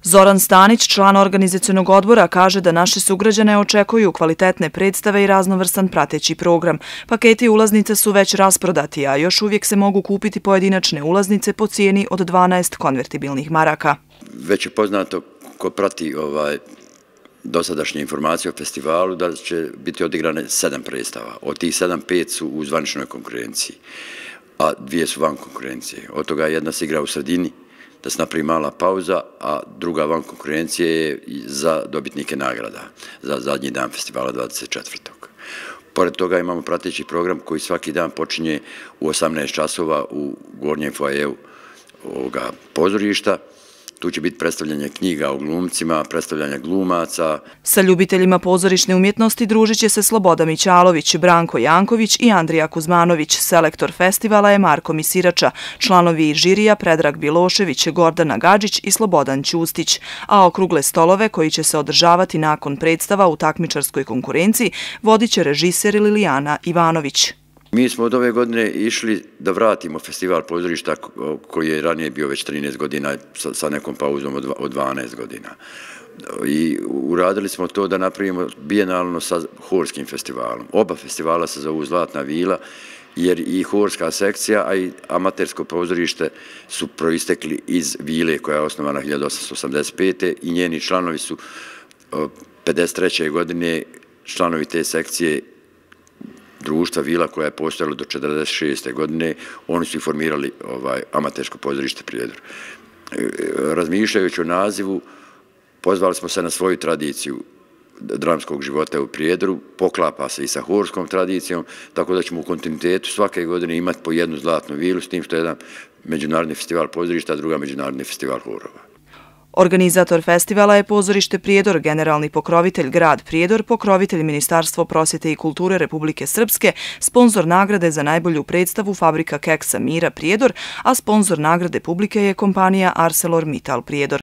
Zoran Stanić, član organizacionog odbora, kaže da naši sugrađane očekuju kvalitetne predstave i raznovrstan prateći program. Paketi ulaznica su već rasprodati, a još uvijek se mogu kupiti pojedinačne ulaznice po cijeni od 12 konvertibilnih maraka. Već je poznato ko prati dosadašnje informacije o festivalu da će biti odigrane 7 predstava. Od tih 7, 5 su u zvaničnoj konkurenciji, a 2 su van konkurencije. Od toga jedna se igra u sredini, da se napravi mala pauza, a druga van konkurencije je za dobitnike nagrada za zadnji dan festivala 24. Pored toga imamo prateći program koji svaki dan počinje u 18 časova u gornjem foajeu ovoga pozorišta. Tu će biti predstavljanje knjiga o glumcima, predstavljanje glumaca. Sa ljubiteljima pozorišne umjetnosti družit će se Sloboda Mićalović, Branko Janković i Andrija Kuzmanović. Selektor festivala je Marko Misirača, članovi žirija Predrag Bilošević, Gordana Gadžić i Slobodan Ćustić. A okrugle stolove koji će se održavati nakon predstava u takmičarskoj konkurenciji vodit će režiser Lilijana Ivanović. Mi smo od ove godine išli da vratimo festival pozorišta koji je ranije bio već 13 godina sa nekom pauzom od 12 godina. I uradili smo to da napravimo bijenalno sa horskim festivalom. Oba festivala se zovu Zlatna vila jer i horska sekcija, a i amatersko pozorište su proistekli iz vile koja je osnovana 1885. i njeni članovi su 53. godine članovi te sekcije društva Vila koja je postojala do 1946. godine, oni su i formirali amatersko pozorište Prijedor. Razmišljajući o nazivu, pozvali smo se na svoju tradiciju dramskog života u Prijedoru, poklapa se i sa horskom tradicijom, tako da ćemo u kontinuitetu svake godine imati po jednu Zlatnu vilu, s tim što je jedan međunarodni festival pozorišta, a druga međunarodni festival horova. Organizator festivala je pozorište Prijedor, generalni pokrovitelj grad Prijedor, pokrovitelj Ministarstvo prosvjete i kulture Republike Srpske, sponzor nagrade za najbolju predstavu Fabrika keksa Mira Prijedor, a sponzor nagrade publike je kompanija ArcelorMittal Prijedor.